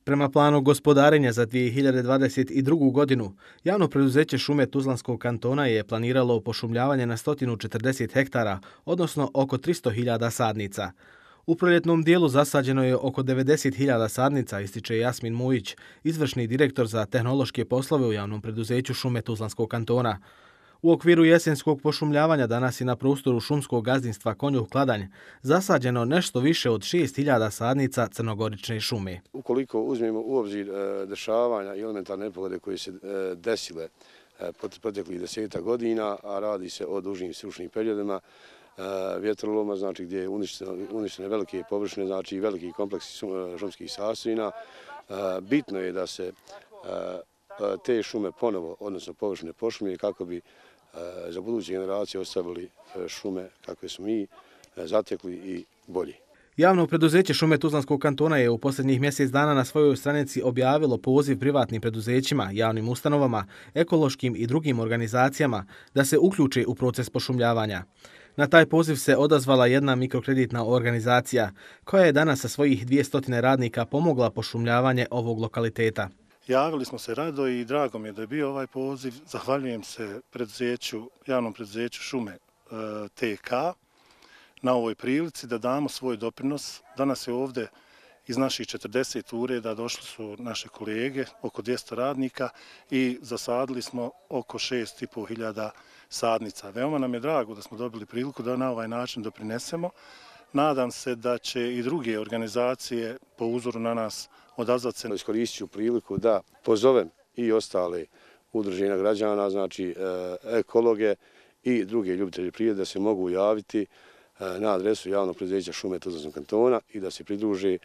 Prema planu gospodarenja za 2022. godinu, javno preduzeće Šume Tuzlanskog kantona je planiralo pošumljavanje na 140 hektara, odnosno oko 300.000 sadnica. U proljetnom dijelu zasađeno je oko 90.000 sadnica, ističe Jasmin Mujić, izvršni direktor za tehnološke poslove u javnom preduzeću Šume Tuzlanskog kantona. U okviru jesenskog pošumljavanja danas je na prostoru šumskog gazdinstva Konjuh Kladanj zasađeno nešto više od 6.000 sadnica crnogorične šume. Ukoliko uzmemo u obzir dešavanja i elementarne nepogode koje se desile proteklih 10 godina, a radi se o dužim sušnim periodima, vjetroloma, znači gdje je uništene velike površine, znači veliki kompleksi šumskih sastojina, bitno je da se te šume ponovo, odnosno površine pošumlje kako bi za buduće generacije ostavili šume kakve smo mi zatekli i bolji. Javno preduzeće Šume Tuzlanskog kantona je u posljednjih mjesec dana na svojoj stranici objavilo poziv privatnim preduzećima, javnim ustanovama, ekološkim i drugim organizacijama da se uključe u proces pošumljavanja. Na taj poziv se odazvala jedna mikrokreditna organizacija koja je danas sa svojih 200 radnika pomogla pošumljavanje ovog lokaliteta. Javili smo se rado i drago mi je da je bio ovaj poziv. Zahvaljujem se javnom preduzeću Šume TK na ovoj prilici da damo svoj doprinos. Danas je ovdje iz naših 40 ureda došli su naše kolege, oko 200 radnika i zasadili smo oko 6.500 sadnica. Veoma nam je drago da smo dobili priliku da na ovaj način doprinesemo. Nadam se da će i druge organizacije po uzoru na nas odazvati se. Iskoristit ću priliku da pozovem i ostale udruženja građana, znači ekologe i druge ljubitelje prirode da se mogu javiti na adresu javnog preduzeća Šume Tuzlanskog kantona i da se pridruže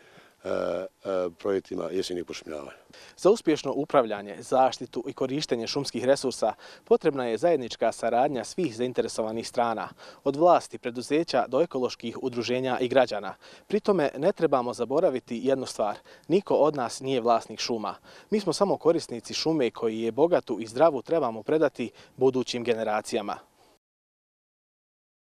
projektima jesenjeg pošumljavanja. Za uspješno upravljanje, zaštitu i korištenje šumskih resursa potrebna je zajednička saradnja svih zainteresovanih strana, od vlasti, preduzeća do ekoloških udruženja i građana. Pri tome ne trebamo zaboraviti jednu stvar. Niko od nas nije vlasnik šuma. Mi smo samo korisnici šume koji je bogatu i zdravu trebamo predati budućim generacijama.